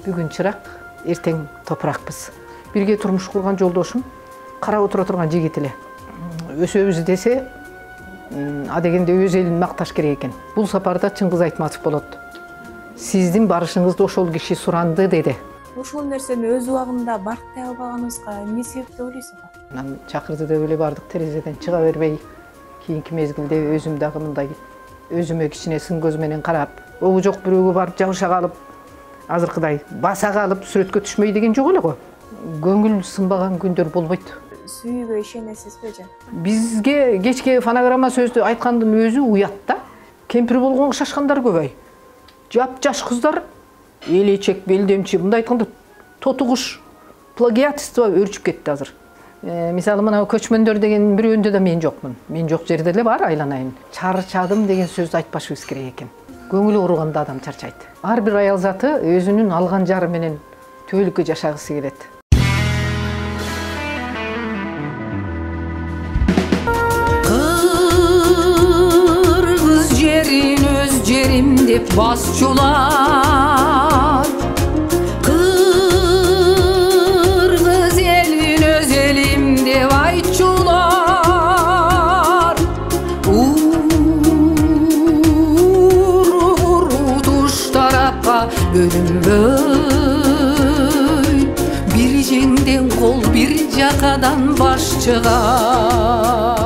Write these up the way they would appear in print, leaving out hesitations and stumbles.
Бүгүн чырак, эртең топуракпыз. Бирге турмуш курган жолдошум карап отура турган жигит эле. Өсөбүз десе, а дегенде өз элин макташ керек экен. Бул сапарда Чыңгыз Айтматов болот. Сиздин барышыңызды ошол киши суранды деди. Ошол нерсени өз убагында барктай албаганыбызга эмне себеп деп ойлойсуңар? Анан чакырды деп эле бардык, терезеден чыга бербей, кийинки мезгилде өзүм дагы мындай өзүмө кичине сын көз менен карап, обу жок бирөөгө барып жабыша калып, азыркыдай баса калып сүрөткө түшмөй деген жок эле го. Көңүл сынбаган күндөр болбойт. Сүйүүгө ишенесизби же? Бизге кечке фонограмма сөздү айткандын өзү уят да. Кемпир болгонго шашкандар көбөй. Жап-жаш кыздар элечек, белдемчи, мындай айтканда тотугуш плагиатство өрчүп кетти азыр. Мисалы мына көчмөндөр деген бирөөндө да мен жокмун. Мен жок жерде эле бар, айланайын. Чарчадым деген сөздү айтпашыбыз керек экен. Көңүлү ооруганда адам чарчайт. Ар бир аял заты өзүнүн алган жары менен түбөлүккө жашагысы келет. Кыргыз жерин өз жерим деп басчулар, кыргыз элин өз элим деп айтчулар, туш тарапка бөлүнбөй, бир жеңден кол бир жакадан баш чыгар.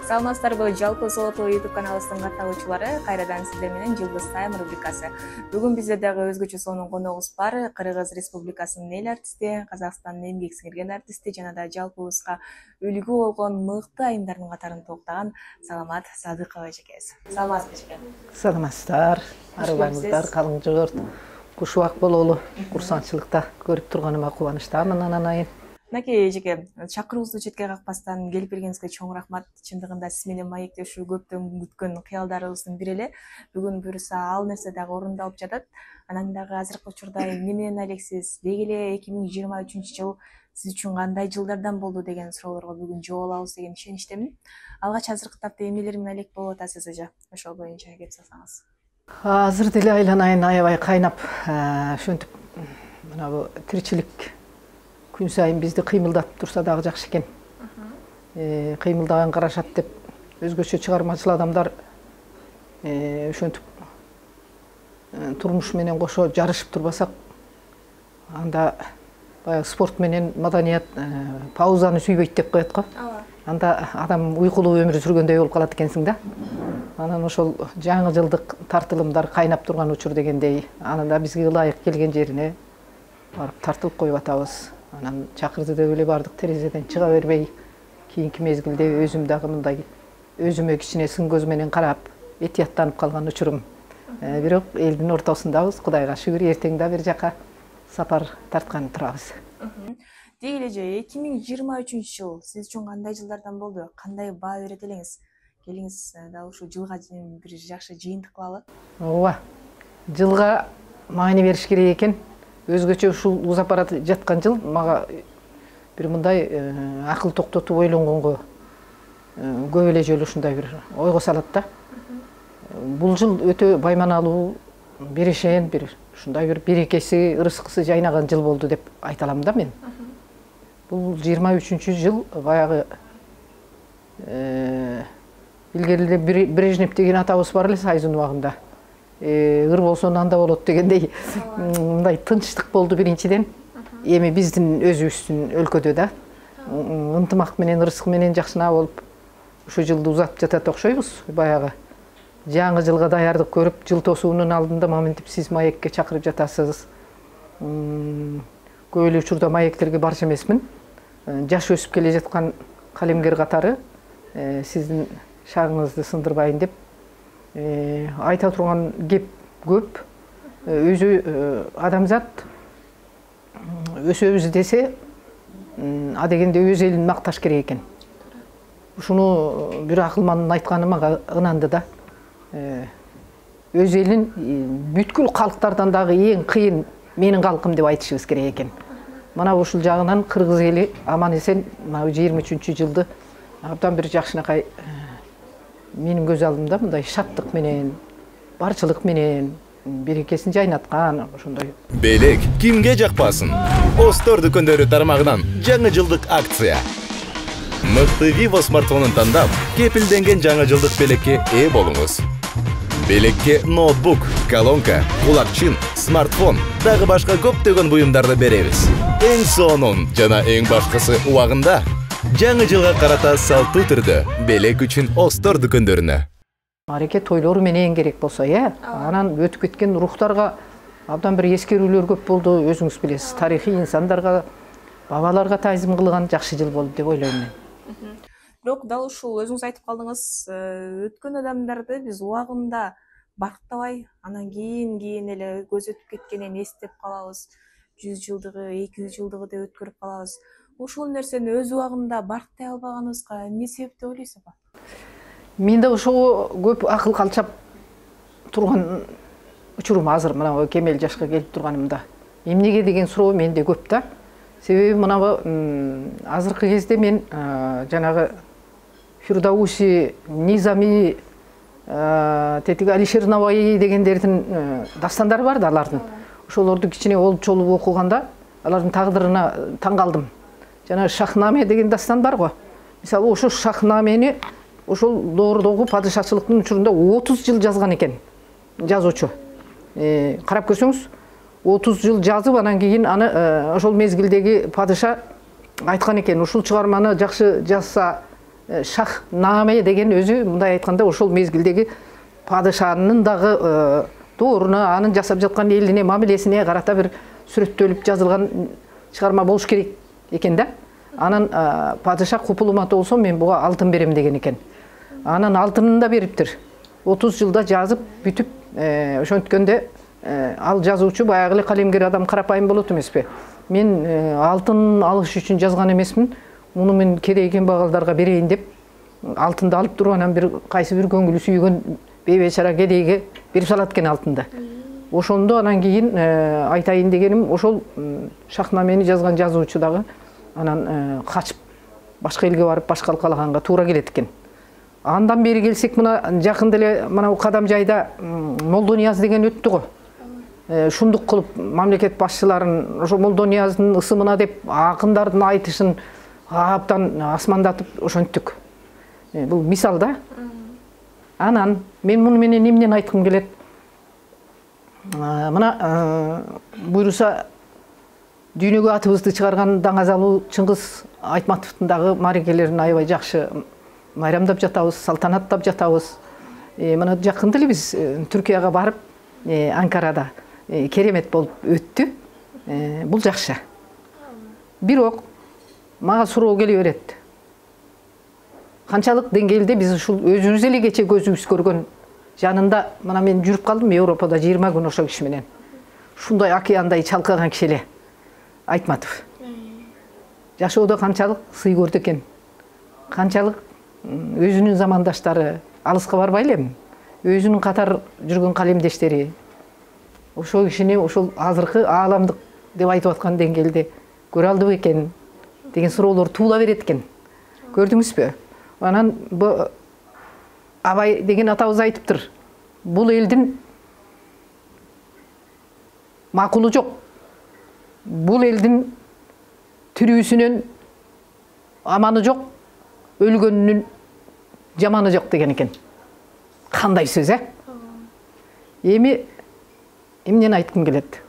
Саламатсыздарбы, жалпы Солото YouTube каналыбыздын катталуучулары, кайрадан сиздер менен Жылдыз Тайм рубрикасы. Бүгүн бизде дагы өзгөчө сонун коногубуз бар. Кыргыз Республикасынын эл артисти, Казакстандын эмгек сиңирген артисти жана да жалпыбызга үлгү болгон мыкты айымдардын катарын топтогон Саламат Садыкова эжекебиз. Саламатсызбы эжеке? Саламатсыздар, арыбаңыздар, калың жогорт. Куш убак бололу, курсанчылыкта көрүп турганыма кубанычтамын ананайын. Мынакей эжеке, чакыруубузду четке какпастан келип бергениңизге чоң рахмат. Чындыгында сиз менен маектешүү көптөн күткөн кыялдарыбыздын бири эле. Бүгүн буюрса ал нерсе дагы орундалып жатат. Анан дагы азыркы учурда эмне менен алексиз? Деги эле 2023-жыл сиз үчүн кандай жылдардан болду деген суроолорго бүгүн жооп алабыз деген ишеничтемин. Алгач азыркы тапта эмнелер менен алек болуп атасыз эже? Ошол боюнча кеп салсаңыз. Азыр деле айланайын аябай кайнап, ошентип мына бу тиричилик күн сайын бизди кыймылдатып турса дагы жакшы экен. Кыймылдаган карашат деп өзгөчө чыгармачыл адамдар ошентип турмуш менен кошо жарышып турбасак, анда баягы спорт менен маданият паузаны сүйбөйт деп коет го. Анда адам уйкулуу өмүр сүргөндөй болуп калат экенсиң да. Анан ошол жаңы жылдык тартылымдар кайнап турган учур дегендей, анан да бизге ылайык келген жерине барып тартылып коюп атабыз. Анан чакырды деп эле бардык, терезеден чыга бербей, кийинки мезгилде өзүм дагы мындай өзүмө кичине сын көз менен карап, этияттанып калган учурум. Бирок элдин ортосундабыз, Кудайга шүгүр, эртең да бир жака сапар тарткан турабыз. Деги эле же 2023-жыл сиз үчүн кандай жылдардан болду? Кандай баа берет элеңиз? Келиңиз дал ушул жылга бир жакшы жыйынтык кылалы. Ооба. Жылга маани бериш керек экен. Өзгөчө ушул узап бара жаткан жыл мага бир мындай акыл токтотуп ойлонгонго көп эле жолу ушундай бир ойго салат да. Бул жыл өтө байманалуу, берешен, бир ушундай бир берекеси, ырыскысы жайнаган жыл болду деп айта алам да мен. Бул 23-жыл баягы илгериле Брежнев деген атабыз бар эле Сайзын убагында. Ыр болсо анда болот дегендей мындай тынчтык болду биринчиден. Эми биздин өзүбүздүн өлкөдө да ынтымак менен, ырыскы менен жакшына болуп ушу жылды узатып жатат окшойбуз. Баягы жаңы жылга даярдык көрүп, жыл тосуунун алдында моментип сиз маекке чакырып жатасыз. Көп эле учурда маектерге барчу эмесмин. Жаш өсүп келе жаткан калемгер катары сиздин шагыңызды сындырбайын деп айта турган кеп көп. Өзү адамзат өсөбүз десе, а дегенде өз элин макташ керек экен. Ушуну бир акылмандын айтканы мага ынанды да. Өз элин бүткүл калктардан дагы эң кыйын менин калкым деп айтышыбыз керек экен. Мына ушул жагынан кыргыз эли аман эсен мына 23-жылды абдан бир жакшынакай менин көз алдымда мындай шаттык менен, барчылык менен, берекесин жайнаткан ошондой. Белек кимге жакпасын? Остор дүкөндөрү тармагынан жаңы жылдык акция. Мыкты Vivo смартфонун тандап, кепилденген жаңы жылдык белекке ээ болуңуз. Белекке ноутбук, колонка, кулакчын, смартфон, дагы башка көптөгөн буюмдарды беребиз. Эң сонун жана эң башкысы убагында жаңы жылга карата салттуу түрдө белек үчүн Остор дүкөндөрүнө. Маареке тойлору менен керек болсо, анан өтүп кеткен рухтарга абдан бир эскерүүлөр көп болду, өзүңүз билесиз. Тарыхый инсандарга, бабаларга таазим кылган жакшы жыл болду деп ойлойм мен. Бирок дал ушул өзүңүз айтып калдыңыз, өткөн адамдарды биз убагында барктабай, анан кийин эле көз өтүп кеткенин эстеп калабыз. 100 жылдыгы, 200 жылдыгы деп өткөрүп калабыз. Ушул нерсени өз убагында барктай албаганыбызга эмне себеп деп ойлойсуз апа? Менде ошого көп акыл калчап турган учурум азыр мына кемел жашка келип турганымда. Эмнеге деген суроо менде көп да. Себеби мына азыркы кезде мен жанагы Фирдауси, Низами, тетиги Алишер Наваи дегендердин дастандары бар да алардын. Ошолорду кичине олчолуп окуганда алардын тагдырына таң калдым. Жана Шахнаме деген дастан бар го. Мисалы ошо Шахнамени ошол доордогу падышачылыктын учурунда 30 жыл жазган экен жазуучу. Карап көрсөңүз 30 жыл жазып, анан кийин аны ошол мезгилдеги падыша айткан экен. Ушул чыгарманы жакшы жазса Шахнаме деген өзү мындай айтканда ошол мезгилдеги падышанын дагы дооруна, анын жасап жаткан элине, мамилесине карата бир сүрөттөлүп жазылган чыгарма болуш керек экен да. Анан падыша купулуматы болсо мен буга алтын берем деген экен. Анан алтынын да бериптир. 30 жылда жазып бүтүп, ошонткөндө ал жазуучу баягы эле калемгер адам, карапайым болот эмеспи? Мен алтын алыш үчүн жазган эмесмин. Муну мен кереген багалдарга берейин деп алтынды алып туруп, анан бир кайсы бир көңүлү сүйгөн бейбечара кедейге берип салат экен алтынды. Ошондо анан кийин айтайын дегеним, ошол Шахнамени жазган жазуучу дагы анан качып башка элге барып башкалык калаганга туура келет экен. Андан бери келсек, мына жакында эле мына Кадам жайда Молдонияз деген өттү го. Шундук кылып мамлекет башчыларын ошо Молдонияздын ысымына деп акындардын айтышын абдан асмандатып ошонттук. Бул мисал да. Анан мен муну менен эмнени айткым келет? Мына буйруса дүйнөгө атыбызды чыгарган даңазалуу Чыңгыз Айтматовдун дагы маарекелерин аябай жакшы майрамдап жатабыз, салтанаттап жатабыз. Мына жакында эле биз Түркияга барып, Анкарада керемет болуп өттү. Бул жакшы. Бирок мага суроо келе берет. Канчалык деңгээлде биз ушул өзүбүз эле кече көзүбүз көргөн жанында, мына мен жүрүп калдым Европада 20 күн ошол киши менен. Ушундай океандай чалкаган киши эле Айтматов. Жашоодо канчалык сый көрдү экен. Канчалык өзүнүн замандаштары алыска барбай элем. Өзүнүн катар жүргөн калемдештери ошол кишини ошол азыркы ааламдык деп айтып аткан деңгээлде көрө алдыбы экен деген суроолор туула берет экен. Көрдүңүзбү? Анан Абай деген атабыз айтыптыр. Бул элдин макулу жок. Бул элдин тирүүсүнөн аманы жок, өлгөнүнүн жаманы жок деген экен. Кандай сөз, Эми эмнени айткым келет?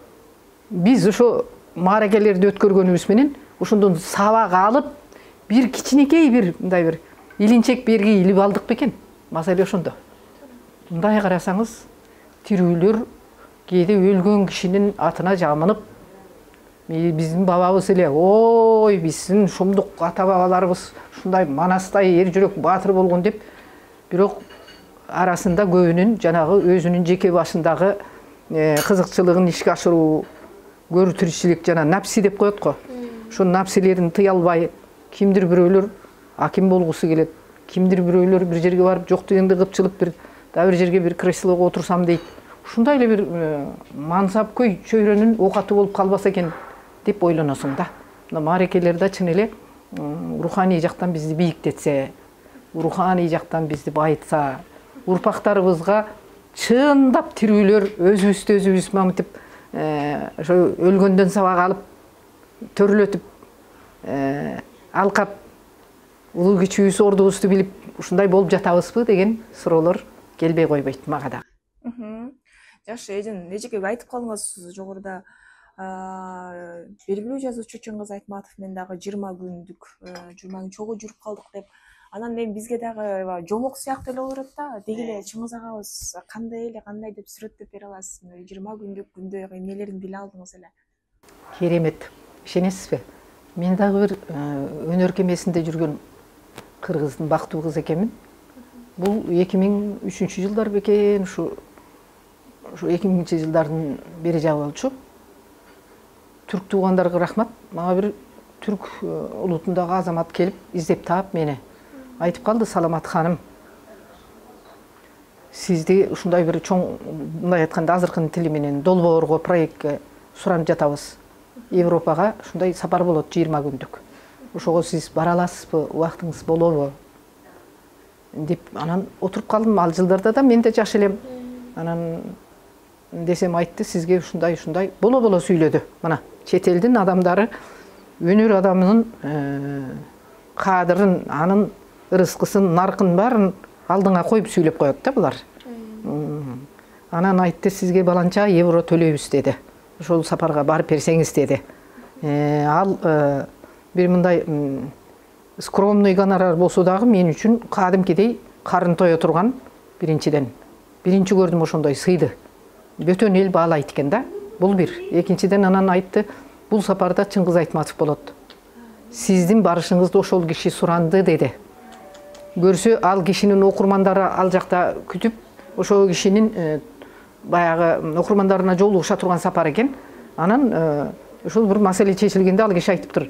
Биз ошо мааракелерди өткөргөнүбүз менен ошондон сабак алып, бир кичинекей бир мындай бир илинчек берги илип алдык бекен? Маселе ошондо. Мындай карасаңыз, тирүүлөр кээде өлгөн кишинин атына жамынып, биздин бабабыз эле, ой, биздин шумдук ата-бабаларыбыз ушундай манастай эр жүрөк баатыр болгон деп, бирок арасында көбүнүн жанагы өзүнүн жеке башындагы кызыкчылыгын ишке ашыруу, көрүү тиричилик жана напси деп коет го. Ошо напсилерин тыя албай, кимдир бирөөлөр аким болгусу келет, кимдир бирөөлөр бир жерге барып жок дегенде кыпчылып бир жерге бир креслого отурсам дейт. Ушундай эле бир мансапкөй чөйрөнүн оокаты болуп калбаса экен деп ойлоносуң да. Мына маарекелер да чын эле руханий жактан бизди бийиктетсе, руханий жактан бизди байытса, урпактарыбызга чындап тирүүлөр өзүбүздү өзүбүз мамытып ошо өлгөндөн сабак алып төрөлөтүп алкап улуу кичүүбүз ордубузду билип ушундай болуп жатабызбы деген суроолор келбей койбойт мага дагы. Жакшы, эжеке айтып калдыңыз жогоруда белгилүү жазуучу Чыңгыз Айтматов менен дагы 20 күн чогуу жүрүп калдык деп. Анан эми бизге дагы жомок сыяктуу эле болуп атат да. Деги эле Чыңгыз агабыз кандай деп сүрөттөп бере аласызбы? 20 күндүк күндө эмнелерин биле алдыңыз эле? Керемет. Ишенесизби? Мен дагы бир өнөр кемесинде жүргөн кыргыздын бактуу кыз экенмин. Бул 2003-жылдар бекен, ушу 2000-жылдардын бери жагы болчу. Түрк туугандарга рахмат. Мага бир түрк улутундагы азамат келип издеп таап мени айтып калды: "Саламат ханым, сизди ушундай бир чоң, мындай айтканда азыркынын тили менен долбоорго, проектке суранып жатабыз. Европага ушундай сапар болот 20 күндүк. Ошого сиз бара аласызбы? Убактыңыз болобу?" деп анан отуруп калдым. Ал жылдарда да мен да жаш элем. Анан десем айтты: "Сизге ушундай боло сүйлөдү. Мына чет элдин адамдары өнөр адамынын кадырын, анын ырыскысын, наркын баарын алдыңа коюп сүйлөп коет да булар. Анан айтты: "Сизге баланча евро төлөйбүз" деди. "Ошол сапарга барып берсеңиз" деди. Ал бир мындай скромный гонорар болсо дагы мен үчүн кадимкидей карын тое турган биринчиден. Биринчи көрдүм ошондой сыйды. Бөтөн эл баалайт экен да. Бул бир. Экинчиден анан айтты: "Бул сапарда Чыңгыз Айтматов болот. Сиздин барышыңызды ошол киши суранды" деди. Көрсө ал кишинин окурмандары ал жакта күтүп, ошол кишинин баягы окурмандарына жолугуша турган сапар экен. Анан ошол бир маселе чечилгенде ал киши айтыптыр: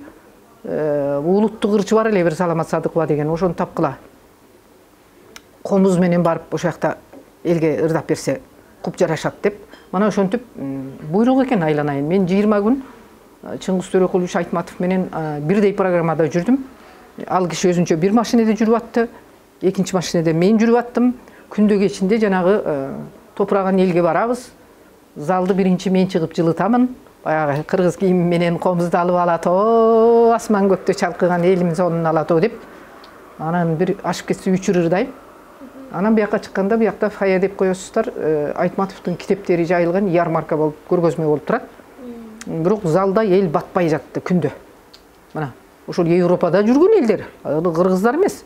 "Улуттук ырчы бар эле бир Саламат Садыкова деген, ошону тапкыла. Комуз менен барып ошол жакта элге ырдап берсе куп жарашат" деп. Мана ошентип буйрук экен айланайын. Мен 20 күн Чыңгыз Төрөкулович Айтматов менен бирдей программада жүрдүм. Ал киши өзүнчө бир машинеде жүрүп атты, экинчи машинеде мен жүрүп аттым. Күндө кечинде жанагы топураган элге барабыз. Залды биринчи мен чыгып жылытамын. Баягы кыргыз кийим менен комузду алып алат, "О, асман көктө чалкыган элим сонун алат о" деп. Анан бир ашып кетсе 3 ырдайм. Анан бияка чыкканда биякта фая деп коесуздар, Айтматовдун китептери жайылган ярмарка болуп, көргөзмө болуп турат. Бирок залда эл батпай жатты күндө. Мына ошол Европада жүргөн элдер, кыргыздар эмес.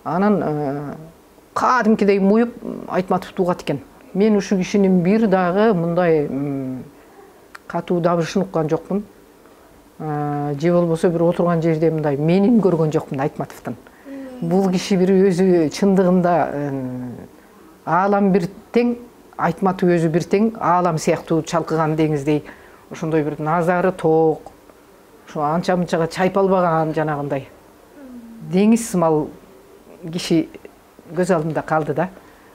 Анан кадимкидей муюп Айтматовду угат экен. Мен ушу кишинин бир дагы мындай катуу дабышын уккан жокмун. Же болбосо бир отурган жерде мындай менин көргөн жокмун Айтматовдун. Бул киши бир өзү чындыгында аалам бир тең, Айтматов өзү бир тең, аалам сыяктуу чалкыган деңиздей ошондой бир назары тоок, ошо анча мынчага чайпалбаган жанагындай деңиз сымал киши көз алдымда калды да.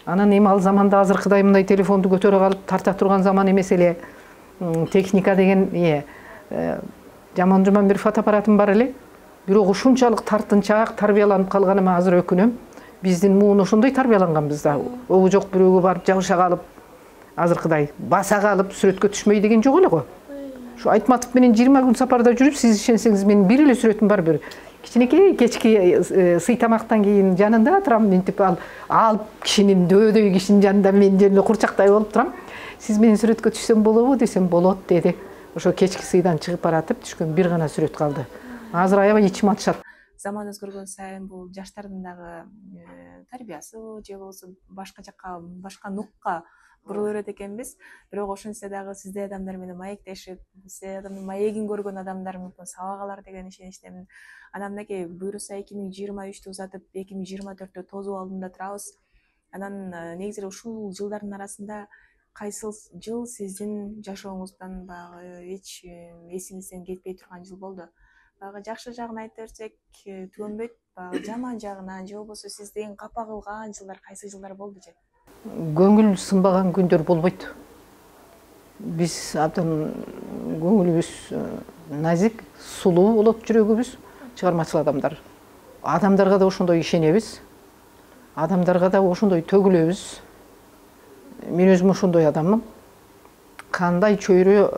Анан эми ал заманда азыркыдай мындай телефонду көтөрө калып тарта турган заман эмес эле. Техника деген жаман бир фотоаппаратым бар эле. Бирок ушунчалык тартынчаак тарбияланып калганыма азыр өкүнөм. Биздин муун ошондой тарбияланганбыз да. Обу жок бирөөгө барып жабыша калып, азыркыдай баса калып сүрөткө түшмөй деген жок эле го. Ушу Айтматов менен 20 күн сапарда жүрүп, сиз ишенсеңиз менин бир эле сүрөтүм бар, бир кичинекей кечки сый тамактан кийин жанында турам, мынтип ал кишинин дөбөдөй кишинин жанында мен жөнүндө курчактай болуп турам. "Сиз менен сүрөткө түшсөм болобу?" десем "Болот" деди. Ошо кечки сыйдан чыгып баратып түшкөн бир гана сүрөт калды. Азыр аябай ичим атышат. Заман өзгөргөн сайын бул жаштардын дагы тарбиясы же болбосо башка жакка, башка нукка бурула берет экенбиз. Бирок ошентсе дагы сиздей адамдар менен маектешип, сиздей адамдын маегин көргөн адамдар мүмкүн сабак алар деген ишеничтемин. Анан мынакей буюрса 2023-тү узатып 2024-тө тосуу алдында турабыз. Анан негизи эле ушул жылдардын арасында кайсы жыл сиздин жашооңуздан баягы эч эсиңизден кетпей турган жыл болду? Баягы жакшы жагын айтып берсек түгөнбөйт, баягы жаман жагынан же болбосо сизди эң капа кылган жылдар кайсы жылдар болду же? Көңүл сынбаган күндөр болбойт. Биз абдан көңүлүбүз назик, сулуу болот жүрөгүбүз, чыгармачыл адамдар. Адамдарга да ошондой ишенебиз. Адамдарга да ошондой төгүлөбүз. мен өзүм ошондой адаммын. Кандай чөйрө,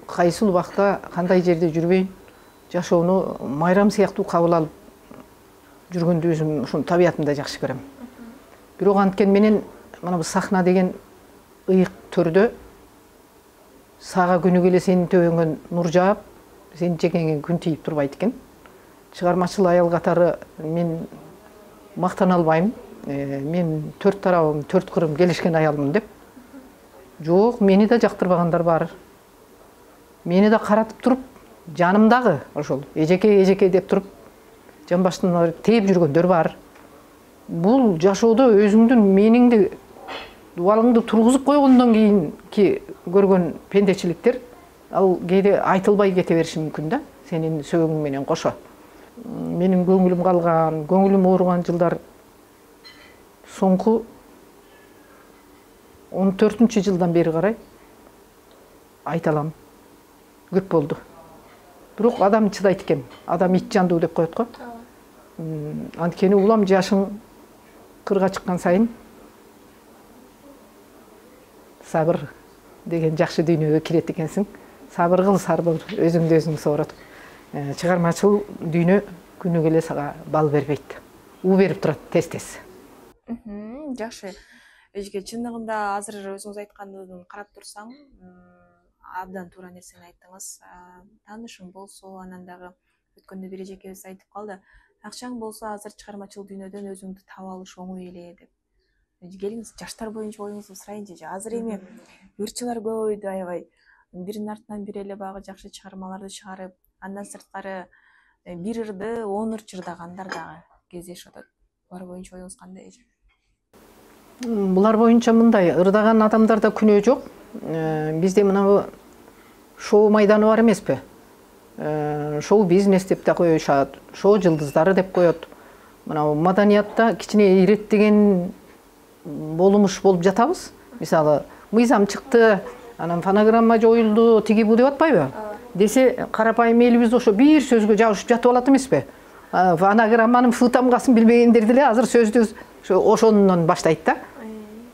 кайсыл убакта, кандай жерде жүрбөйүн, жашоону майрам сыяктуу кабыл алып жүргөндү өзүм ошону табиятымда жакшы көрөм. Бирок анткен менен мына бул сахна деген ыйык төрдө сага күнү келе сенин төбөңөн нур жаап, сенин жеңеңе күн тийип турбайт экен. Чыгармачыл аял катары мен мактана албайм. Мен төрт тарабым, төрт кырым келишкен аялмын деп. Жок, мени да жактырбагандар бар. Мени да каратып туруп, жанымдагы ошол эжеке деп туруп, жамбаштан тээп жүргөндөр бар. Бул жашоодо өзүңдүн мениңди дубалыңды тургузуп койгондон кийинки көргөн пендечиликтер ал кээде айтылбай кете бериши мүмкүн да, сенин сөөгүң менен кошо. Менин көңүлүм калган, көңүлүм ооруган жылдар соңку 14-жылдан бери карай айта алам. Көп болду. Бирок адам чыдайт экен. Адам ит жандуу деп коет го. Анткени улам жашың 40-га чыккан сайын сабыр деген жакшы дүйнөгө кирет экенсиң. Сабыр кыл, сабыр, өзүңдү өзүң соорот. Чыгармачыл дүйнө күнү келе сага бал бербейт. У берип турат тез-тез. Жакшы. Эжеке, чындыгында азыр өзүңүз айткандыгын карап турсаң, абдан туура нерсени айттыңыз. Таанышың болсо, анан дагы өткөндө бир эжекебиз айтып калды. Акчаң болсо азыр чыгармачыл дүйнөдөн өзүңдү таап алыш оңой эле деп. Келиңиз, жаштар боюнча оюңузду сурайынчы. Азыр эми ырчылар көбөйдү аябай. Биринин артынан бири эле багы жакшы чыгармаларды чыгарып, андан сырткары бир ырды 10 ырчы ырдагандар дагы кездешип атат. Булар боюнча оюңуз кандай эже? Булар боюнча мындай, ырдаган адамдарда күнөө жок. Бизде мына шоу майданы бар эмеспи? Шоу бизнес деп да коюшат, шоу жылдыздары деп коет. Мына маданиятта кичине иреттеген болумуш болуп жатабыз. Мисалы, мыйзам чыкты, анан фонограмма жоюлду, тиги бу деп атпайбы? Десе, карапайым элибиз ошо бир сөзгө жабышып жатып алат эмеспи? Фонограмманын фы тамгасын билбегендер деле азыр сөздү ошондон баштайт да.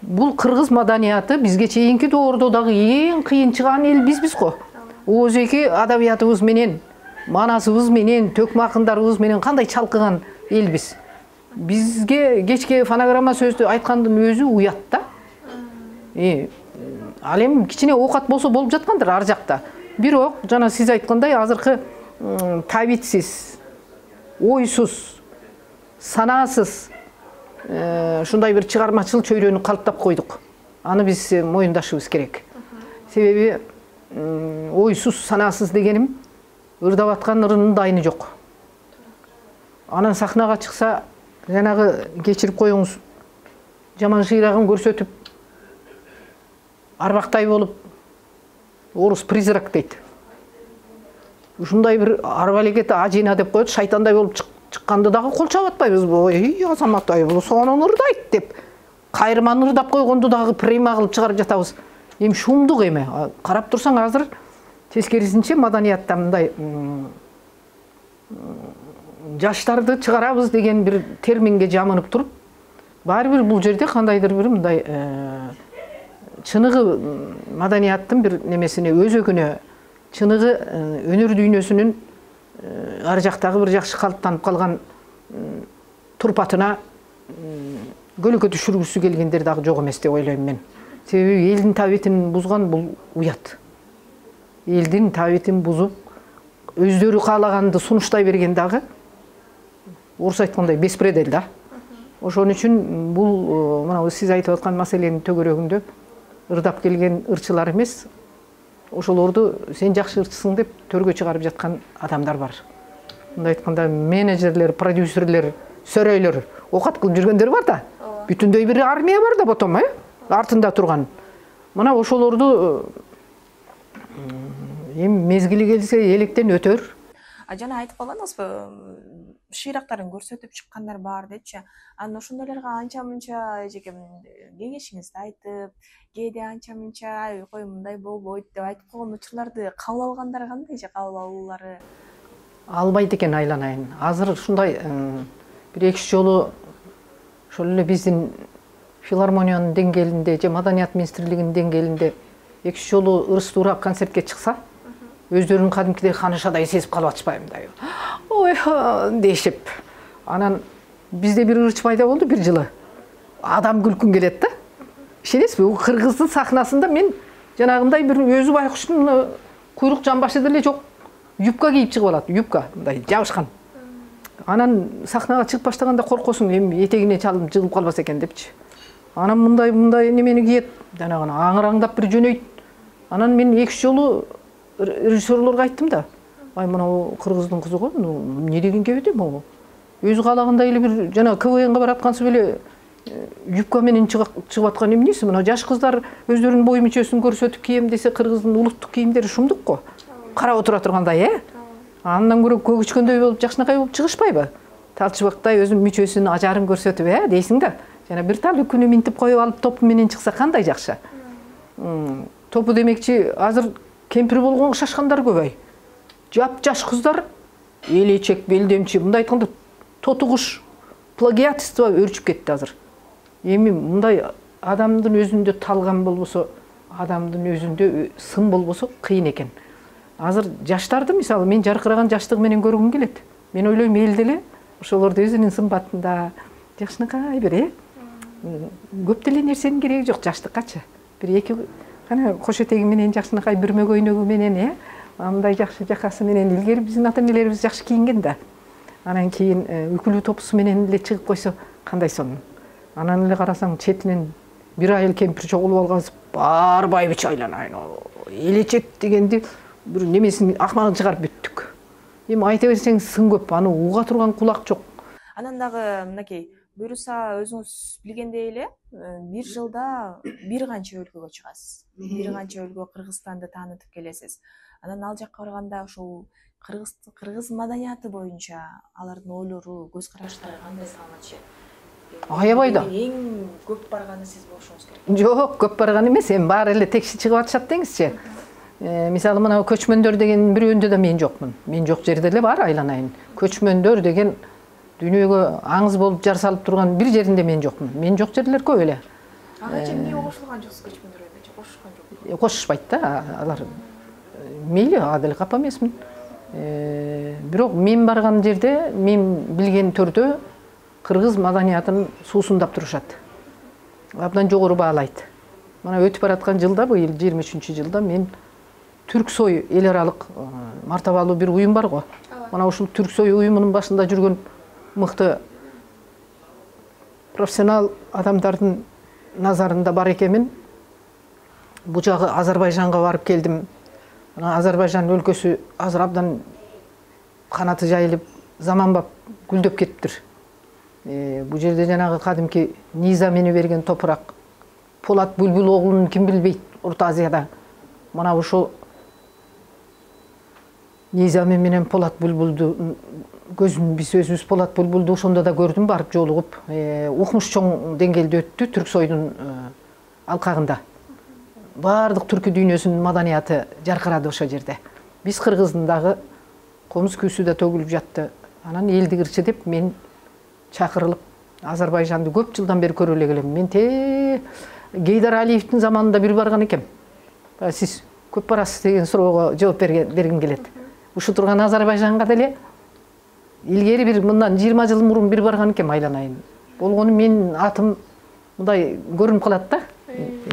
Бул кыргыз маданияты бизге чейинки доордо дагы эң кыйын чыган эл бизбиз го. Өзеки адабиятыбыз менен, манасыбыз менен, төкмө акындарыбыз менен кандай чалкыган элбиз. Бизге кечке фонограмма сөздү айткандын өзү уят да. Ал эми кичине оокат болсо болуп жаткандыр ар жакта. Бирок, жана сиз айткандай, азыркы табитсиз, ойсуз, санаасыз ушундай бир чыгармачыл чөйрөнү калыптап койдук. Аны биз моюндашыбыз керек. Себеби ойсуз, санаасыз дегеним ырдап аткан ырынын дайыны жок. Анан сахнага чыкса, жанагы кечирип коюңуз, жаман шыйрагын көрсөтүп, арбактай болуп, орус призрак дейт. Ушундай бир арбалекет ажина деп коет, шайтандай болуп чыкканды дагы кол чаап атпайбыз. Ой, Азамат ай, бул сонун ырдайт деп. Кайрман ырдап койгонду дагы према кылып чыгарып жатабыз. Эми шумдук эме. Карап турсаң азыр тескерисинче маданиятта мындай жаштарды чыгарабыз деген бир терминге жамынып туруп, баары бир бул жерде кандайдыр бир мындай чыныгы маданияттын бир немесине өзөгүнө, чыныгы өнөр дүйнөсүнүн ар жактагы бир жакшы калыптанып калган турпатына көлөкө түшүргүсү келгендер дагы жок эмес деп ойлойм мен. Себеби элдин табитин бузган бул уят. Элдин табитин бузуп, өздөрү каалаганды сунуштай берген дагы орус айткандай беспредел да. Ошон үчүн бул мына сиз айтып аткан маселенин төгөрөгүндө ырдап келген ырчылар эмес, ошолорду сен жакшы ырчысың деп төргө чыгарып жаткан адамдар бар. Мындай айтканда менеджерлер, продюсерлер, сөрөйлөр окат кылып жүргөндөр бар да. Бүтүндөй бир армия бар да потом, артында турган. Мына ошолорду эми мезгили келсе электен өтөр. Жана айтып калгансызбы, шыйрактарын көрсөтүп чыккандар бар депчи. Анан ошондойлорго анча-мынча эжеке кеңешиңизди айтып, кээде анча-мынча кой мындай болбойт деп айтып койгон учурларды кабыл алгандар кандай же кабыл алуулары? Албайт экен айланайын. Азыр ушундай бир эки жолу ошол эле биздин филармониянын деңгээлинде же маданият министрлигинин деңгээлинде 2 жолу ырыс туура концертке чыкса, өздөрүн кадимкидей ханышадай сезип калып атышпайбы мындай. Ой, дешип. Анан бизде бир ырчы пайда болду бир жылы. Адам күлкүн келет да. Ишенесизби? Бул кыргыздын сахнасында мен жанагындай бир өзү байкуштун куйрук жамбашы деле жок. Юбка кийип чыгып алат, юбка мындай жабышкан. Анан сахнага чыгып баштаганда коркосуң, эми этегине чалып жыгылып калбаса экен депчи. Анан мындай немени кийет, жанагы аңыраңдап бир жөнөйт. Анан мен 2 жолу режиссерлорго айттым да. Ай, мына кыргыздын кызы го, эмне деген кебете могу. Өзү калагандай эле бир жана КВНга бараткансып эле юбка менен чыгып аткан эмнеси? Мына жаш кыздар өздөрүнүн бой мүчөсүн көрсөтүп кийем десе, кыргыздын улуттук кийимдери шумдук го. Карап отура тургандай, Андан көрө көгүчкөндөй болуп, жакшынакай болуп чыгышпайбы? Талчыбактай өзүнүн мүчөсүн, ажарын көрсөтүп, дейсиң да. Жана бир тал күнү минтип коюп алып топу менен чыкса кандай жакшы. Топу демекчи, азыр кемпир болгонго шашкандар көбөй. Жап-жаш кыздар элечек, белдемчи, мындай айтканда тоту куш плагиатство өрчүп кетти азыр. Эми мындай адамдын өзүндө талгам болбосо, адамдын өзүндө сын болбосо кыйын экен. Азыр жаштарды, мисалы, мен жаркыраган жаштыгы менен көргүм келет. Мен ойлойм, эл деле ошолорду өзүнүн сымбатында жакшынакай бир, көп деле нерсенин кереги жок жаштыккачы. Бир 2 кана кош этеги менен жакшынакай бүрмө көйнөгү менен, мындай жакшы жакасы менен илгери биздин ата-энелерибиз жакшы кийинген да. Анан кийин үкүлүү топусу менен эле чыгып койсо кандай сонун. Анан эле карасаң четинен бир айыл кемпир чогулуп алгансып, бар байбиче айланайын. Элечек дегенди бир немесин акмагын чыгарып бүттүк. Эми айта берсең сын көп, аны уга турган кулак жок. Анан дагы мынакей буюрса өзүңүз билгендей эле бир жылда бир канча өлкөгө чыгасыз. Бир канча өлкө Кыргызстанды таанытып келесиз. Анан ал жакка барганда ошол кыргыз маданияты боюнча алардын ойлору, көз караштары кандай саламат түшөт? Аябай да. Эң көп барганы сиз болушуңуз керек. Жок, көп барган эмес, эми баары эле текши чыгып атышат деңизчи. Мисалы, мына көчмөндөр деген бирөөндө да мен жокмун. Мен жок жерде эле бар айланайын. Көчмөндөр деген дүйнөгө аңыз болуп жар салып турган бир жеринде мен жокмун. Мен жок жерлер көп эле. Анча эмне кошулган жоксуз көчмөндөр боюнча? Кошушкан жок. Кошушпайт да, алар. Мейли, адил капа эмесмин. Бирок мен барган жерде, мен билген төрдө кыргыз маданиятын суусундап турушат. Абдан жогору баалайт. Мына өтүп бараткан жылда, быйыл 23-жылда мен Түрксой эл аралык мартабалуу бир уюм бар го. Мына ушул Түрксой уюмунун башында жүргөн мыкты профессионал адамдардын назарында бар экенмин. Бу жагы Азербайжанга барып келдим. Азербайжан өлкөсү азыр абдан канаты жайылып, заманбап гүлдөп кетиптир. Бу жерде жанагы кадимки Низамени берген топурак, Полат Бүлбүл оглун ким билбейт Орто Азияда. Мына ушул Низами менен Полат Бүлбүлдү көзүн биз өзүбүз Полат Бүлбүлдү ошондо да көрдүм, барып жолугуп. Укмуш чоң деңгээлде өттү Түрксойдун алкагында. Бардык түркү дүйнөсүнүн маданияты жаркырады ошо жерде. Биз кыргыздын дагы комуз күүсү да төгүлүп жатты. Анан элди кырчы деп мен чакырылып Азербайжанды көп жылдан бери көрө эле келем. Мен Гейдар Алиевдин заманында бир барган экем. Сиз көп барасыз деген суроого жооп бергим келет. Ушу турган Азербайжанга деле илгери бир мындан 20 жыл мурун бир барган экем айланайын. Болгону менин атым мындай көрүнүп калат да.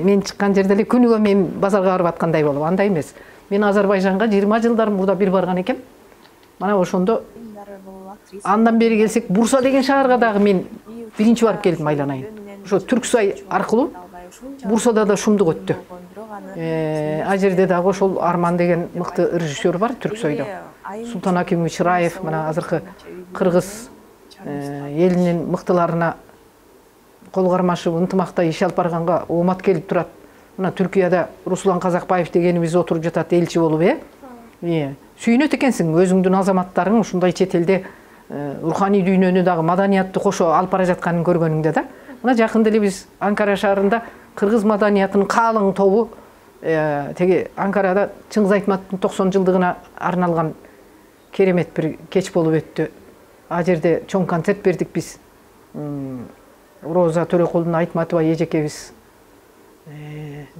Мен чыккан жерде эле күнүгө мен базарга барып аткандай болуп, андай эмес. Мен Азербайжанга 20 жылдар мурда бир барган экем. Мана ошондо андан бери келсек, Бурса деген шаарга дагы мен биринчи барып келдим айланайын. Ошо Түрксой аркылуу Бурсада да шумдук өттү. А жерде дагы ошол Арман деген мыкты режиссер бар Түрксойдо. Султан Акимович Раев, мына азыркы кыргыз элинин мыктыларына кол кармашып ынтымакта иш алып барганга оомат келип турат. Мына Түркияда Руслан Казакбаев дегенибиз отуруп жатат элчи болуп, сүйүнөт экенсиң өзүңдүн азаматтарың ушундай чет элде руханий дүйнөнү дагы маданиятты кошо алып бара жатканын көргөнүңдө да. Мына жакында эле биз Анкара шаарында кыргыз маданиятынын калың тобу теги Анкарада Чыңгыз Айтматовдун 90 жылдыгына арналган керемет бир кеч болуп өттү. А жерде чоң концерт бердик биз. Роза Төрөкулдун Айтматова эжекебиз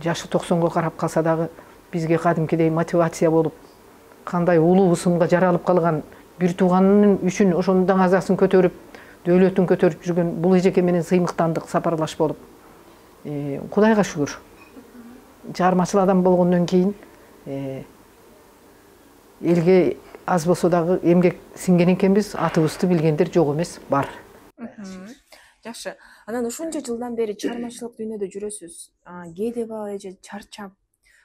жашы 90-го карап калса дагы бизге кадимкидей мотивация болуп, кандай улуу ысымга жаралып калган бир тууганын үчүн ошонун даңазасын көтөрүп, дөөлөтүн көтөрүп жүргөн бул эжеке менен сыймыктандык, сапарлаш болуп. Кудайга шүгүр. Чыгармачыл адам болгондон кийин элге аз болсо дагы эмгек сиңген экенбиз, атыбызды билгендер жок эмес, бар. Жакшы. Анан ушунча жылдан бери чыгармачылык дүйнөдө жүрөсүз. Кээде баба эже чарчап,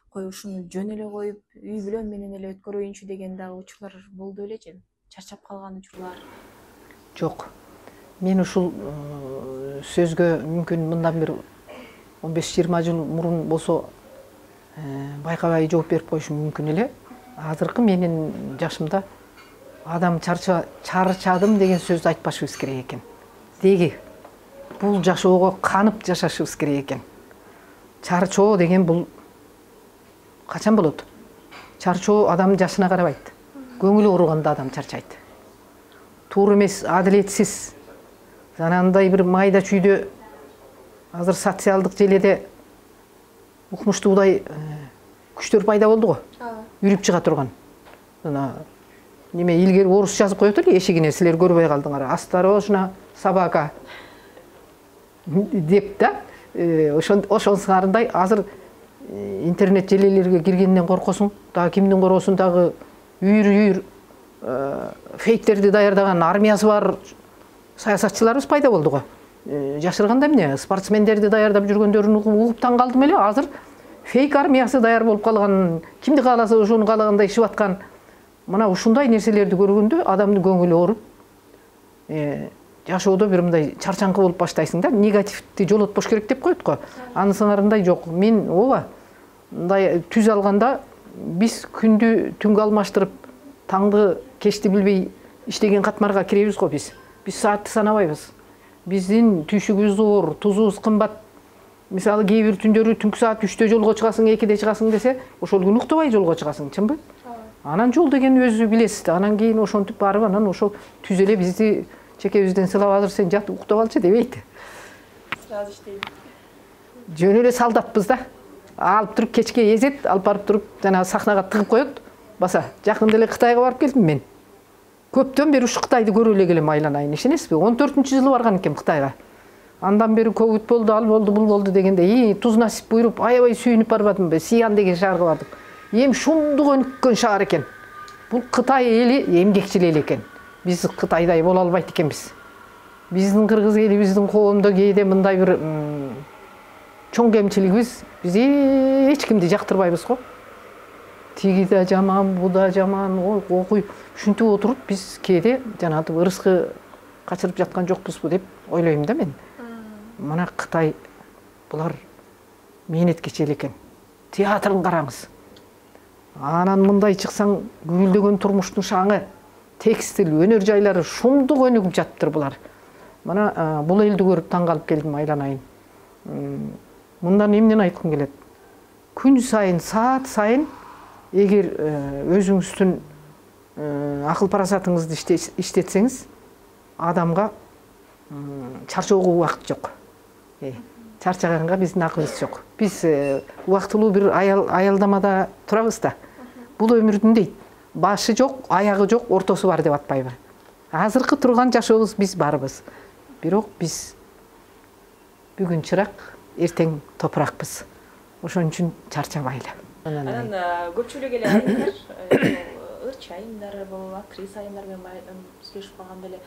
кой ушуну жөн эле коюп, үй бүлөм менен эле өткөрөйүнчү деген дагы учурлар болду белечи? Чарчап калган учурлар? Жок. Мен ушул сөзгө мүмкүн мындан бир 15-20 жыл мурун болсо байкабай жооп берип коюшум мүмкүн эле. Азыркы менин жашымда адам чарчадым деген сөздү айтпашыбыз керек экен. Деги бул жашоого канып жашашыбыз керек экен. Чарчоо деген бул качан болот? Чарчоо адамдын жашына карабайт. Көңүлү ооруганда адам чарчайт. Туура эмес, адилетсиз, анандай бир майда чүйдө азыр социалдык желеде укмуштуудай күчтөр пайда болду го. Үрүп чыга турган. Неме илгери орус жазып коет эле эшигине, силер көрбөй калдыңар. Осторожно, собака деп да. Ошонсуңарындай азыр интернет желелерге киргенден коркосуң, дагы кимдин коросун дагы үйүр фейктерди даярдаган армиясы бар саясатчыларыбыз пайда болду го. Жашырганда эмне, спортсмендерди даярдап жүргөндөрүн угуп таң калдым эле. Азыр фейк армиясы даяр болуп калган, кимди кааласа ошону каалагандай ишип аткан. Мына ушундай нерселерди көргөндө адамдын көңүлү ооруп, жашоодо бир мындай чарчаңкы болуп баштайсың да, негативди жолотпош керек деп коет го. Анысыңарындай жок. Мен ооба мындай түз алганда биз күндү түнгө алмаштырып, таңды кечти билбей иштеген катмарга киребиз го биз. Биз саатты санабайбыз. Биздин түйшүгүбүз оор, тузубуз кымбат. Мисалы кээ бир түндөрү түнкү саат 3-тө жолго чыгасың, 2-де чыгасың десе, ошол күнү уктабай жолго чыгасың, чынбы? Анан жол деген өзү билесиз. Анан кийин ошентип барып, анан ошол түз эле бизди чекебизден сылап, азыр сен жат уктап алчы дебейт. Сразу иштейт. Жөн эле солдатпыз да. Алып туруп кечке эзет, алып барып туруп жана сахнага тыгып коет. Баса, жакында эле Кытайга барып келдим мен. Көптөн бери ушу Кытайды көрө эле келем, айланайын, ишенесизби? 14-жылы барган экем Кытайга. Андан бери ковид болду, ал болду, бул болду дегенде, туз насип буйруп, аябай сүйүнүп барбадымбы? Сиан деген шаарга бардык. Эм шундук өнүккөн шаар экен. Бул Кытай эли эмгекчил эл экен. Биз Кытайдай боло албайт экенбиз. Биздин кыргыз элибиздин коомдо кээде мындай бир чоң кемчилигибиз, биз эч кимди жактырбайбыз го. Тиги да жаман, бу да жаман, окуй, ушинтип отуруп биз кээде жанагы ырыскы качырып жаткан жокпузбу деп ойлойм да мен. Мына Кытай булар мээнеткечил экен. Театрын караңыз. Анан мындай чыксаң, гүлдөгөн турмуштун шаңы, текстил, өнөр жайлары шумдук өнүгүп жатыптыр булар. Мына бул элди көрүп таң калып келдим, айланайын. Мындан эмнени айткым келет? Күн сайын, саат сайын эгер өзүңүздүн акыл парасатыңызды иштетсеңиз, адамга чарчоого убакыт жок. Чарчаганга биздин акылыбыз жок. Биз убактылуу бир аялдамада турабыз да. Бул өмүрдүн дейт, башы жок, аягы жок, ортосу бар деп атпайбы? Азыркы турган жашообуз биз барбыз. Бирок биз бүгүн чырак, эртең топуракпыз. Ошон үчүн чарчабайлы. Анан көпчүлүк эле айымдар, ырчы айымдар, актриса айымдар менен сүйлөшүп калганда эле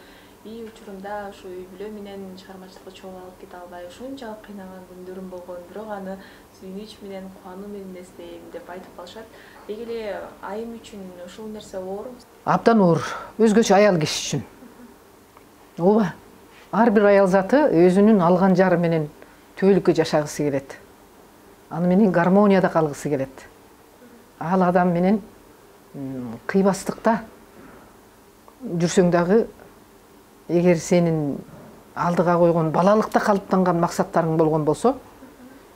учурунда ушу үй бүлө менен чыгармачылыкты чогуу алып кете албай, ушунчалык кыйнаган күндөрүм болгон, бирок аны сүйүнүч менен, кубануу менен эстейм деп айтып калышат. Деги эле айым үчүн ушул нерсе оорбу? Абдан оор, өзгөчө аял киши үчүн. Ооба. Ар бир аял заты өзүнүн алган жары менен түбөлүккө жашагысы келет. Аны менен гармонияда калгысы келет. Ал адам менен кыйбастыкта жүрсөң дагы, эгер сенин алдыга койгон балалыкта калыптанган максаттарың болгон болсо,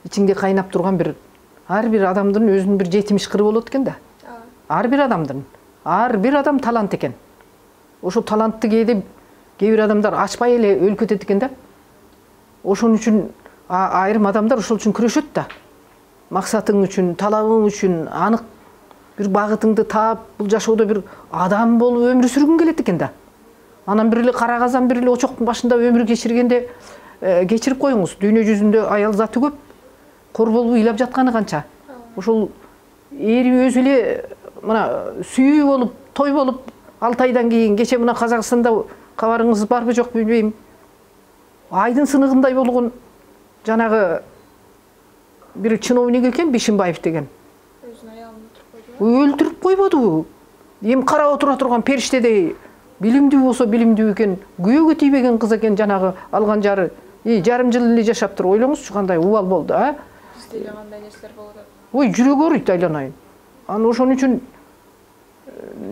ичиңде кайнап турган ар бир адамдын өзүнүн бир жетимиш кыры болот экен да. Ар бир адам талант экен. Ошо талантты кээ бир адамдар ачпай эле өлүп кетет экен да. ошон үчүн айрым адамдар ошол үчүн күрөшөт да. Максатың үчүн, талабың үчүн анык бир багытыңды таап, бул жашоодо бир адам болуп өмүр сүргүң келет экен да. Анан бир эле кара казан, бир эле очоктун башында өмүр кечиргенде кечирип коюңуз. Дүйнө жүзүндө аял заты көп, кор болуп ыйлап жатканы канча. Ошол эри өзү эле мына сүйүү болуп, той болуп, 6 айдан кийин кече мына Казакстанда кабарыңыз барбы жок билбейм. Айдын сыныгындай болгон жанагы бир чиновник экен, Бишимбаев деген. Өлтүрүп койбоду. Эми карап отура турган периштедей билимдүү болсо билимдүү экен, күйөөгө тийбеген кыз экен, жанагы алган жары. Жарым жыл эле жашаптыр. Ойлоңузчу кандай убал болду, а? Бизде кандай нерселер болуп атат. Ой, жүрөк ооруйт айланайын. Аны ошон үчүн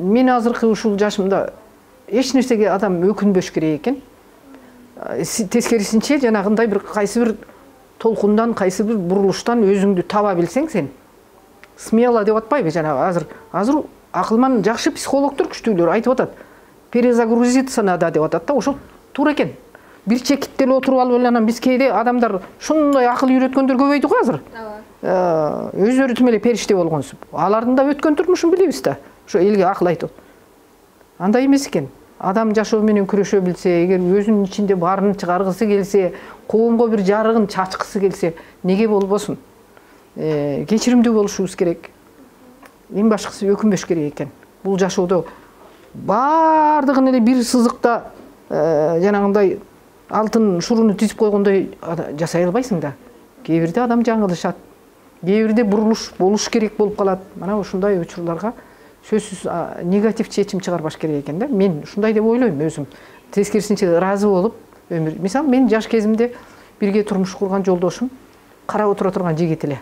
мен азыркы ушул жашымда эч нерсеге адам өкүнбөш керек экен. Тескерисинче жанагындай бир кайсы бир толкундан, кайсы бир бурулуштан өзүңдү таба билсең сен. Смело деп атпайбы жанагы азыр акылман жакшы психологдор күчтүүлөр айтып атат. Перезагрузиться надо деп атат да, ошол туура экен. Бир чекитте эле отуруп алып анан биз кээде адамдар шундай акыл үйрөткөндөр көбөйдү го азыр. Өздөрү тим эле периште болгонсуп. Алардын да өткөн турмушун билебиз да. Ошо элге акыл айтып. Андай эмес экен. Адам жашоо менен күрөшө билсе, эгер өзүнүн ичинде баарын чыгаргысы келсе, коомго бир жарыгын чачкысы келсе, неге болбосун? Кечиримдүү болушубуз керек. Эң башкысы өкүнбөш керек экен. Бул жашоодо баардыгын эле бир сызыкта жанагындай алтын шуруну тизип койгондой жасай албайсың да. Кээ бирде адам жаңылышат. Кээ бирде бурулуш болуш керек болуп калат. Мана ушундай учурларга сөзсүз негатив чечим чыгарбаш керек экен да. Мен ушундай деп ойлойм өзүм. Тескерисинче ыраазы болуп өмүр. Мисалы, мен жаш кезимде бирге турмуш курган жолдошум карап отура турган жигит эле.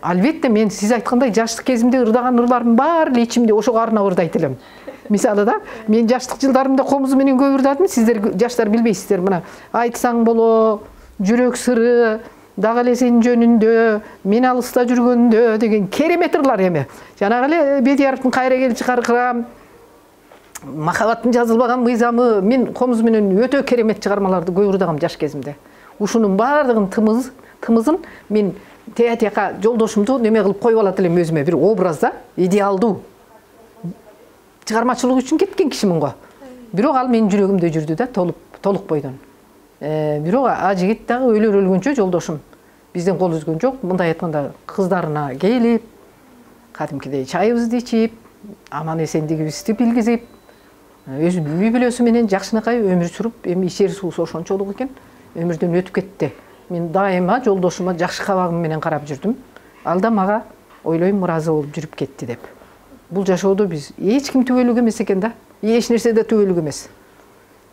Албетте мен сиз айткандай жаштык кезимде ырдаган ырларымдын баары эле ичимде ошого арнап ырдайт элем. Мисалы да, мен жаштык жылдарымда комуз менен көп ырдадым, сиздер жаштар билбейсиздер. Мына айтсаң боло, жүрөк сыры, дагы эле сенин жөнүндө, мен алыста жүргөндө деген керемет ырлар эми. Жанагы эле Бедияровдун кайра кел чыгаркырам, махабаттын жазылбаган мыйзамы, мен комуз менен өтө керемет чыгармаларды көп ырдагам жаш кезимде. Ушунун баардыгын тымызын мен театека жолдошумду неме кылып коюп алат элем өзүмө, бир образда, идеалдуу. Чыгармачылык үчүн кеткен кишимин го. Бирок ал менин жүрөгүмдө жүрдү да, толук бойдон. Бирок жигит дагы өлгөнчө жолдошум бизден кол үзгөн жок. Мындай айтканда кыздарына келип, кадимкидей чайыбызды ичип, аман эсендигибизди билгизип, өзүнүн үй бүлөсү менен жакшынакай өмүр сүрүп, эми ичер суусу ошончолук экен, өмүрдөн өтүп кетти. Мен дайыма жолдошума жакшы кабагым менен карап жүрдүм. Ал да мага ойлойм ыраазы болуп жүрүп кетти деп. Бул жашоодо биз эч ким түбөлүк эмес экен да. Эч нерсе да түбөлүк эмес.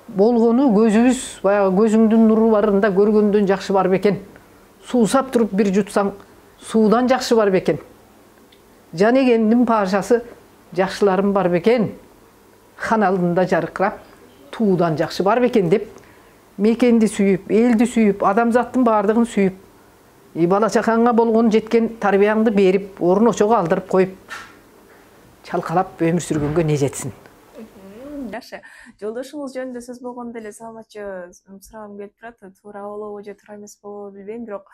Болгону көзүбүз, баягы көзүңдүн нуру барында көргөндөн жакшы бар бекен. Суусап туруп бир жутсаң, суудан жакшы бар бекен. Жан эгендин пашасы жакшыларым бар бекен. Хан алдында жаркырап, туудан жакшы бар бекен деп мекенди сүйүп, элди сүйүп, адамзаттын баардыгын сүйүп, бала чакаңа болгон жеткен тарбияңды берип, орун очого алдырып коюп, чалкалап өмүр сүргөнгө не жетсин. Жакшы. Жолдошуңуз жөнүндө сөз болгондо эле салмачы сурагым келип турат. Туура болобу же туура эмес болобу билбейм, бирок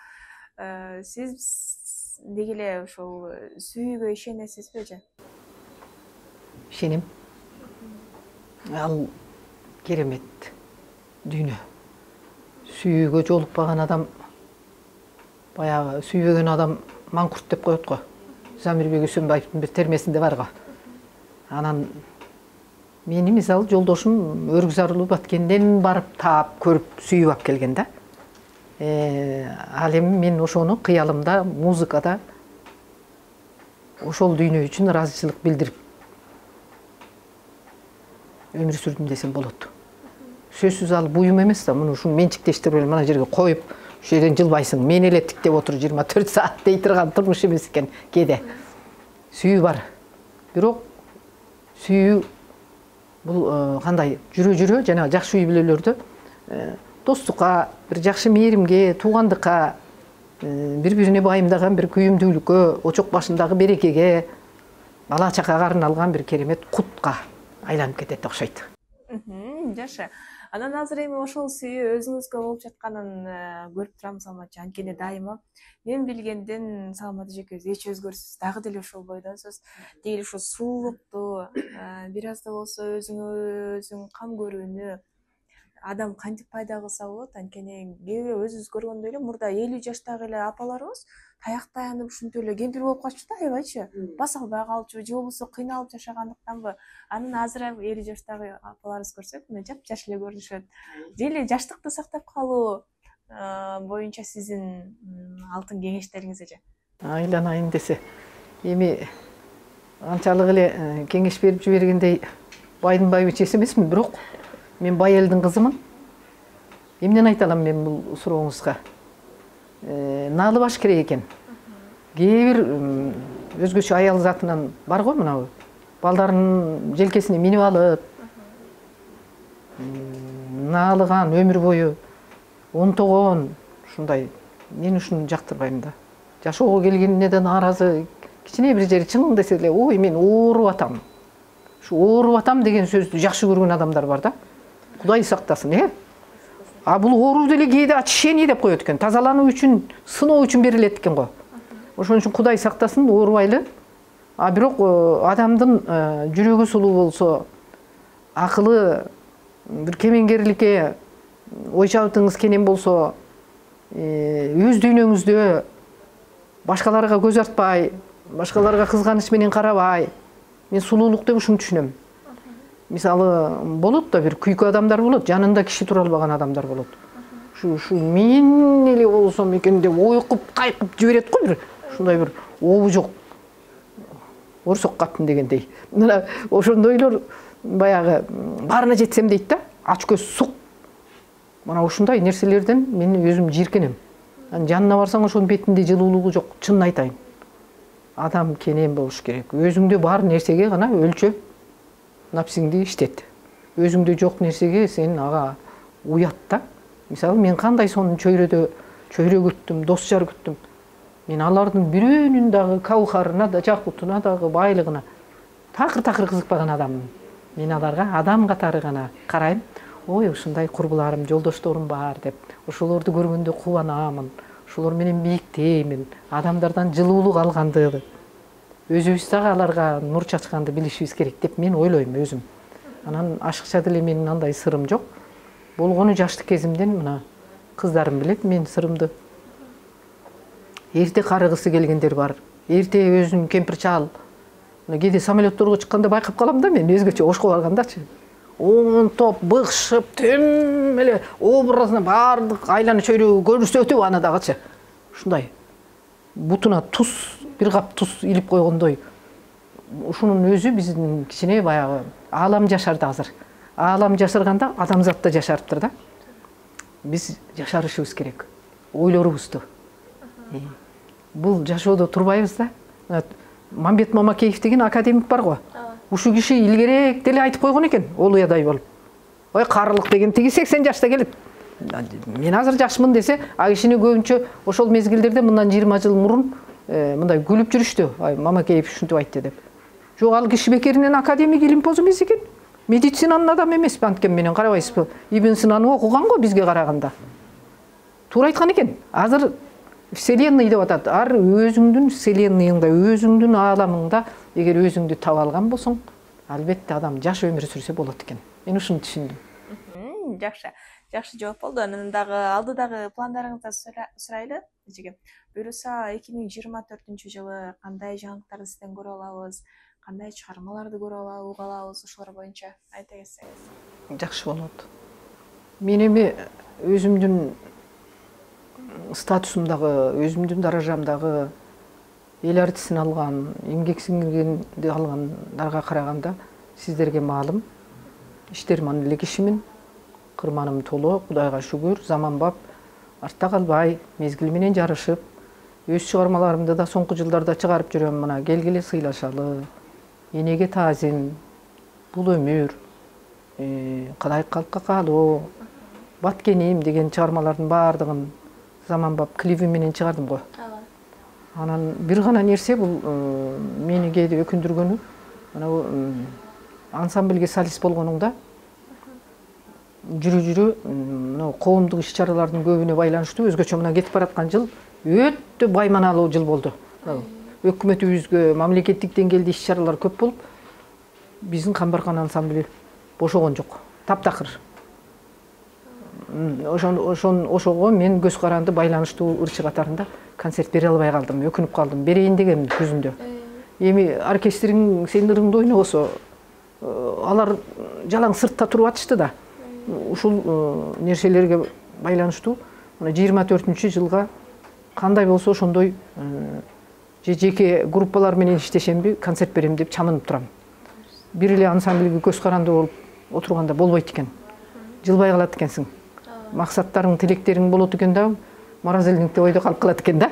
сиз деги эле ошол сүйүүгө ишенесизби же? Ишенем. Ал керемет дүйнө. Сүйүүгө жолукпаган адам, баягы сүйбөгөн адам маңкурт деп коет го. Замирбек Үсөнбаевдин бир термесинде бар го. Анан мени мисалы жолдошум Өргүзарлуу Баткенден барып таап, көрүп, сүйүп алып келген да. Ал эми мен ошону кыялымда, музыкада ошол дүйнө үчүн ыраазычылык билдирип өмүр сүрдүм десем болот. Сөзсүз ал буюм эмес да, муну ушуну менчиктештирип мына жерге коюп, ушул жерден жылбайсың, мен эле тиктеп отур 24 саат дей турган турмуш эмес экен кээде. Сүйүү бар. Бирок сүйүү бул кандай жүрө жана жакшы үй бүлөлөрдө достукка, бир жакшы мээримге, туугандыкка, бири-бирине байымдаган бир күйүмдүүлүккө, очок башындагы берекеге, бала чакага арналган бир керемет кутка айланып кетет окшойт. Жакшы. Анан азыр эми ошол сүйүү өзүңүзгө болуп жатканын көрүп турам Салматчы. Анткени дайыма мен билгенден Салмат эжекебиз эч өзгөрүшсүз дагы деле ошол бойдонсуз. Деги ушул сулуулукту, бир аз да болсо өзүң кам көрүүнү адам кантип пайда кылса болот? Анткени кээ бирөө өзүбүз көргөндөй эле мурда 50 жаштагы эле апаларыбыз таяк таянып ушинтип эле кемпир болуп калчу да, аябайчы. Баса албай калчу, же болбосо кыйналып жашагандыктанбы. Анан азыр 50 жаштагы апаларыбыз көрсөк, мына жап-жаш эле көрүнүшөт. Дели жаштыкты сактап калуу боюнча сиздин алтын кеңештериңиз эже? Айланайын десе, эми анчалык эле кеңеш берип жибергендей байдын байбичеси эмесмин, бирок мен бай элдин кызымын. Эмнени айта алам мен бул сурооңузга? Наалыбаш керек экен. Кээ бир өзгөчө аял затынан бар го мынабу. Балдарынын желкесине минип алып, наалыган өмүр бою онтогон ушундай. Мен ушуну жактырбайм да. Жашоого келгенине да нааразы. Кичине бир жери чың десе эле, ой мен ооруп атам. Ушу ооруп атам деген сөздү жакшы көргөн адамдар бар да. Кудай сактасын, А бул ооруу деле кээде очищение деп коет экен. Тазалануу үчүн, сыноо үчүн берилет экен го. Ошон үчүн Кудай сактасын, оорубайлы. Бирок адамдын жүрөгү сулуу болсо, акылы бир кемеңгерликке ой чабытыңыз кенен болсо, өз дүйнөңүздө башкаларга көз артпай, башкаларга кызганыч менен карабай, мен сулуулук деп ушуну түшүнөм. Мисалы, болот да бир күйкү адамдар болот, жанында киши тура албаган адамдар болот. Ушу мен эле болсом экен деп ойкуп, кайкып жиберет го бир. Ушундай бир обу жок. Орсок катын дегендей. Мына ошондойлор баягы баарына жетсем дейт да, ач көз сук. Мына ушундай нерселерден мен өзүм жийиркенем. Жанына барсаң ошонун бетинде жылуулугу жок, чынын айтайын. Адам кенен болуш керек. Өзүңдө бар нерсеге гана өлчөп напсиңди иштет. Өзүңдө жок нерсеге сен ага уят да. Мисалы, мен кандай сонун чөйрө күттүм, дос жар күттүм. Мен алардын бирөөнүн дагы каухарына да, жакутуна дагы, байлыгына такыр кызыкпаган адаммын. Мен аларга адам катары гана карайм. Ой, ушундай курбуларым, жолдошторум бар деп. Ошолорду көргөндө кубанамын. Ошолор менен бийиктеймин. Адамдардан жылуулук алгандыгы. Өзүбүз дагы аларга нур чачканды билишибиз керек деп мен ойлойм өзүм. Анан ашыкча деле менин андай сырым жок. Болгону жаштык кезимден мына кыздарым билет мен сырымды. Эрте карыгысы келгендер бар. Эрте өзүн кемпир чал. Кээде самолетторго чыкканда байкап калам да мен өзгөчө ошко баргандачы. Топ быкшып, тем эле образына бардык айлана чөйрөгү көрсөтүп аны дагычы. Ушундай бутуна туз, бир кап туз илип койгондой. Ушунун өзү биздин кичине баягы аалам жашарды азыр. Аалам жашырганда адамзат да жашарыптыр да. Биз жашарышыбыз керек. Ойлорубузду. Бул жашоодо турбайбыз да. Мамбет Мамакеев деген академик бар го. Ушу киши илгерээк деле айтып койгон экен, олуядай болуп. Ой, карылык деген тиги 80 жашта келет. Мен азыр жашмын десе, кишини көбүнчө ошол мезгилдерде мындан 20 жыл мурун мындай күлүп жүрүштү. Ай, Мамакеев ушинтип айтты деп. Жок, ал киши бекеринен академик илимпоз эмес экен. Медицинанын адамы эмес, анткени менен карабайсызбы? Ибн Синаны окуган го бизге караганда. Туура айткан экен. Азыр Вселенной деп атат. Ар өзүңдүн вселенныйыңда, өзүңдүн ааламыңда эгер өзүңдү таба алган болсоң, албетте адам жаш өмүр сүрсө болот экен. Мен ушуну түшүндүм. Жакшы жооп болду. Анан дагы алдыдагы пландарыңызды сурайлы, эжеге. Буюрса 2024-жылы кандай жаңылыктарды сизден көрө алабыз, кандай чыгармаларды көрө алабыз, уга алабыз, ошолор боюнча айта кетсеңиз. Жакшы болот. Мен эми өзүмдүн статусумдагы, өзүмдүн даражамдагы эл артисин алган, эмгек сиңиргенди алгандарга караганда сиздерге маалым. Иштерман эле кишимин, кырманым толо, Кудайга шүгүр, заманбап, артта калбай, мезгили менен жарышып, өз чыгармаларымды да соңку жылдарда чыгарып жүрөм. Мына келгиле сыйлашалы, энеге таазим, бул өмүр, кадай калкка калуу, баткеним деген чыгармалардын баардыгын заманбап клиби менен чыгардым го. Анан бир гана нерсе бул мени кээде өкүндүргөнү, ансамбльге солист болгонуңда жүрү мына коомдук иш чаралардын көбүнө байланыштуу өзгөчө мына кетип бараткан жыл өтө байманалуу жыл болду. Өкмөтүбүзгө мамлекеттик деңгээлде иш чаралар көп болуп, биздин Камбаркан ансамбли бошогон жок. Таптакыр. Ошого мен көз каранды байланыштуу ырчы катарында концерт бере албай калдым, өкүнүп калдым. Берейин дегем күзүндө. Эми оркестриң сенин ырыңды ойнобосо, алар жалаң сыртта туруп атышты да. Ушул нерселерге байланыштуу 24-жылга кандай болсо ошондой жеке группалар менен иштешемби, концерт берем деп чамынып турам. Бир эле ансамбльге көз каранды болуп отурганда болбойт экен. Жылбай калат экенсиң. Максаттарың, тилектериң болот экен да, маразилдикте ойдо калып калат экен да.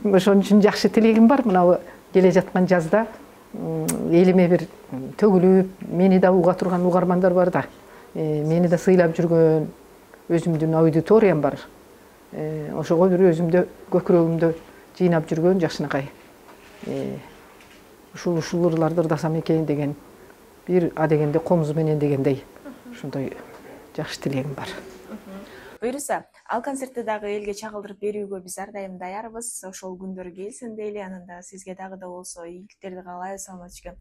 Ошон үчүн жакшы тилегим бар. Мына келе жаткан жазда элиме бир төгүлүп, мени да уга турган угармандар бар да. Мени да сыйлап жүргөн өзүмдүн аудиториям бар. Ошого бир өзүмдө көкүрөгүмдө жыйнап жүргөн жакшынакай. Ушул ырларды ырдасам экен деген бир дегенде комуз менен дегендей ошондой жакшы тилегим бар. Буюрса, ал концертти дагы элге чагылдырып берүүгө биз ар дайым даярбыз. Ошол күндөр келсин дейли, анан да сизге дагы да болсо ийгиликтерди каалайбыз Саламатчыкем.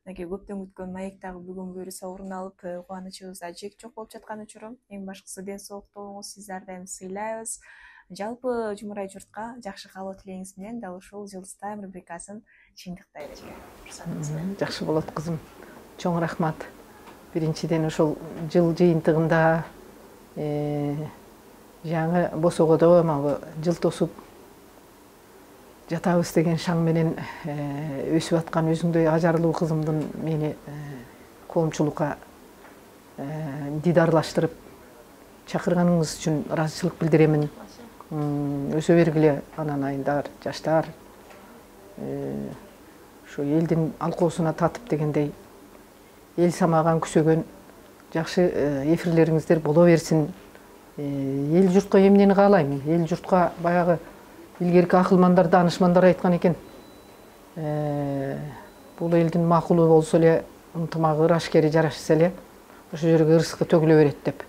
Мынакей көптөн күткөн маек дагы бүгүн буюрса орун алып, кубанычыбызда чек жок болуп жаткан учуру. Эң башкысы ден соолуктуу болуңуз, сизди ар дайым сыйлайбыз. Жалпы Жумурай журтка жакшы каалоо тилегиңиз менен дал ушул Жылдыз Тайм рубрикасын чыйынтыктайлы. Жакшы болот кызым. Чоң рахмат. Биринчиден ошол жыл жыйынтыгында жаңы босогодо магы жыл тосуп жатабыз деген шаң менен өсүп аткан өзүңдөй ажарлуу кызымдын мени коомчулукка дидарлаштырып чакырганыңыз үчүн ыраазычылык билдиремин. Өсө бергиле анан айындар, жаштар. Ошо элдин алкоосуна татып дегендей эл самаган күсөгөн жакшы эфирлериңиздер боло берсин. Эл журтка эмнени каалайм? Эл журтка баягы илгерки акылмандар, данышмандар айткан экен. Бул элдин макулу болсо эле, ынтымагы, ырашкери жарашса эле, ошол жерге ырыскы төгүлө берет деп.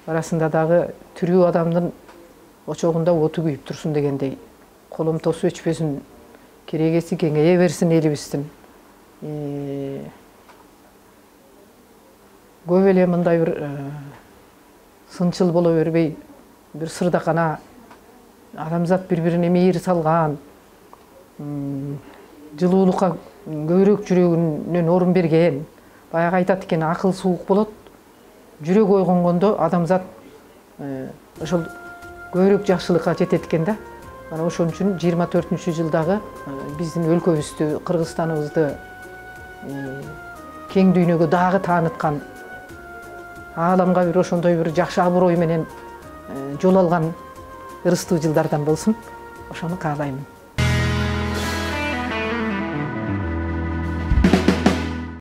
Арасында дагы тирүү адамдын очогунда оту күйүп турсун дегендей, коломтосу өчпөсүн, керегеси кеңейе берсин элибиздин. Көп эле мындай бир сынчыл боло бербей, бир сырдакана адамзат бири-бирине мейир салган, жылуулукка көбүрөөк жүрөгүнөн орун берген. Баягы айтат экен, акыл суук болот, жүрөк ойгонгондо адамзат ошол көбүрөөк жакшылыкка жетет экен да. Мана ошон үчүн 24-жылдагы биздин өлкөбүздү, Кыргызстаныбызды кең дүйнөгө дагы тааныткан, ааламга бир ошондой бир жакшы аброй менен жол алган ырыстуу жылдардан болсун. Ошону каалаймын.